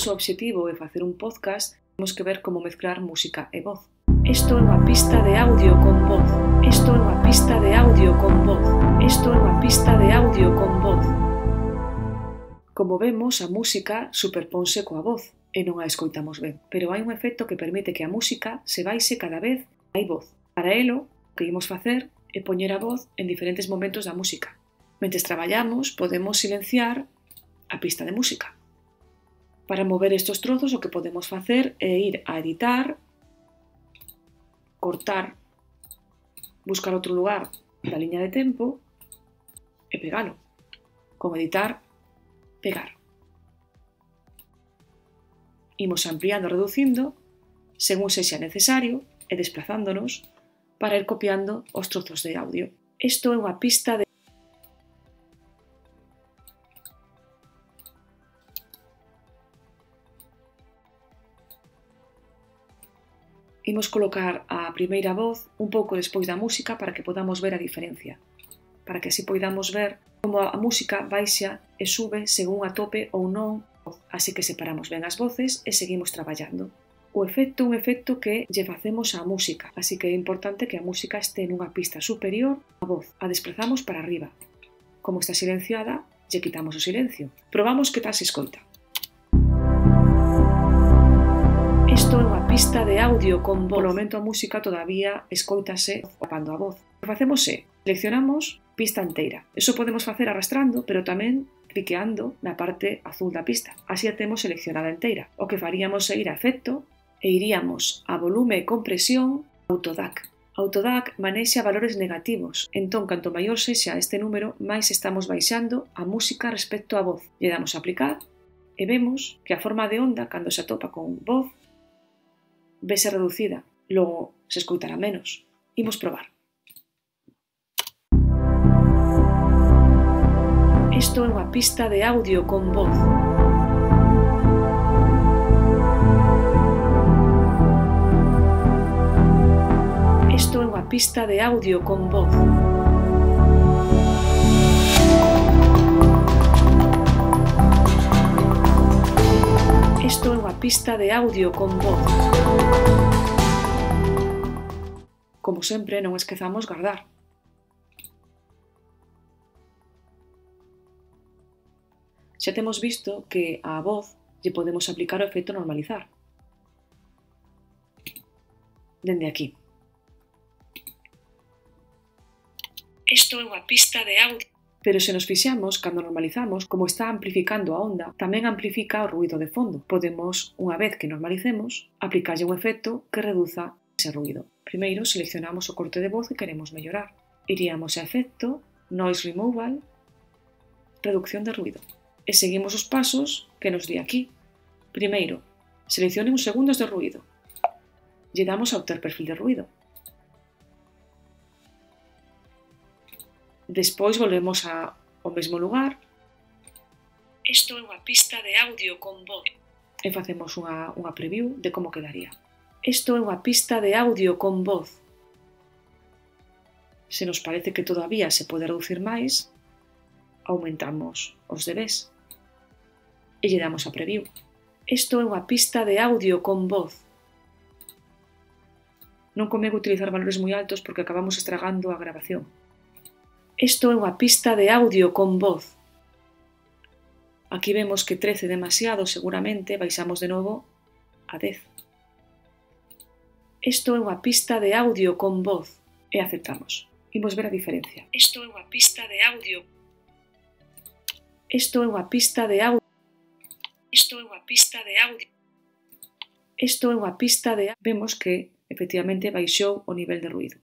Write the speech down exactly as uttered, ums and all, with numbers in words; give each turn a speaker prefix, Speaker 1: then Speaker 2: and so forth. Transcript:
Speaker 1: noso obxectivo é facer un podcast, temos que ver como mezclar música e voz. Isto é unha pista de audio con voz. Isto é unha pista de audio con voz. Isto é unha pista de audio con voz. Como vemos, a música superponse coa voz e non a escoitamos ben, pero hai un efecto que permite que a música se baixe cada vez hai voz. Para elo, o que imos facer é poñer a voz en diferentes momentos da música. Mentres traballamos, podemos silenciar a pista de música. Para mover estes trozos, o que podemos facer é ir a editar, cortar, buscar outro lugar da liña de tempo e pegalo. Con editar, pegar. Imos ampliando e reducindo según sexa necesario e desplazándonos para ir copiando os trozos de audio. Isto é unha pista de Imos colocar a primeira voz un pouco despois da música para que podamos ver a diferencia, para que así poidamos ver como a música baixa e sube según atope ou non, así que separamos ben as voces e seguimos traballando. O efecto é un efecto que lle facemos á música, así que é importante que a música este nunha pista superior á voz. A desplazamos para arriba. Como está silenciada, lle quitamos o silencio. Probamos que tal se escoita. Isto é unha pista de audio con voz. Polo momento a música todavía escoitase tapando a voz. O que facemos é, seleccionamos pista inteira. Eso podemos facer arrastrando, pero tamén cliqueando na parte azul da pista. Así a temos seleccionada inteira. O que faríamos é ir a efecto e iríamos a volume e compresión Auto D A C. Auto D A C manexa valores negativos, entón canto maior sexa este número, máis estamos baixando a música respecto á voz. Lle damos a aplicar e vemos que a forma de onda, cando se atopa con voz, vese reducida, logo se escoitará menos. Imos probar. Isto é unha pista de audio con voz. Isto é unha pista de audio con voz. Isto é unha pista de audio con voz. Como sempre, non esquezamos guardar. Xa temos visto que á voz lle podemos aplicar o efecto normalizar. Dende aquí. Isto é unha pista de audio. Pero se nos fixamos, cando normalizamos, como está amplificando a onda, tamén amplifica o ruído de fondo. Podemos, unha vez que normalicemos, aplicarlle un efecto que reduza ese ruído. Primeiro seleccionamos o corte de voz que queremos mellorar. Iríamos a efecto, Noise Removal, reducción de ruído. E seguimos os pasos que nos di aquí. Primeiro, seleccione uns segundos de ruído. Lle damos a obter perfil de ruído. Despois volvemos ao mesmo lugar. Isto é unha pista de audio con voz. E facemos unha, unha preview de como quedaría. Isto é unha pista de audio con voz. Se nos parece que todavía se pode reducir máis, aumentamos os dBs. E lle damos a preview. Isto é unha pista de audio con voz. Non convén utilizar valores moi altos porque acabamos estragando a grabación. Isto é unha pista de audio con voz. Aquí vemos que trece demasiado, seguramente baixamos de novo a dez. Isto é unha pista de audio con voz. E aceptamos. Imos ver a diferencia. Isto é unha pista de audio. Isto é unha pista de audio. Isto é unha pista de audio. Isto é unha pista de... Vemos que, efectivamente, baixou o nivel de ruído.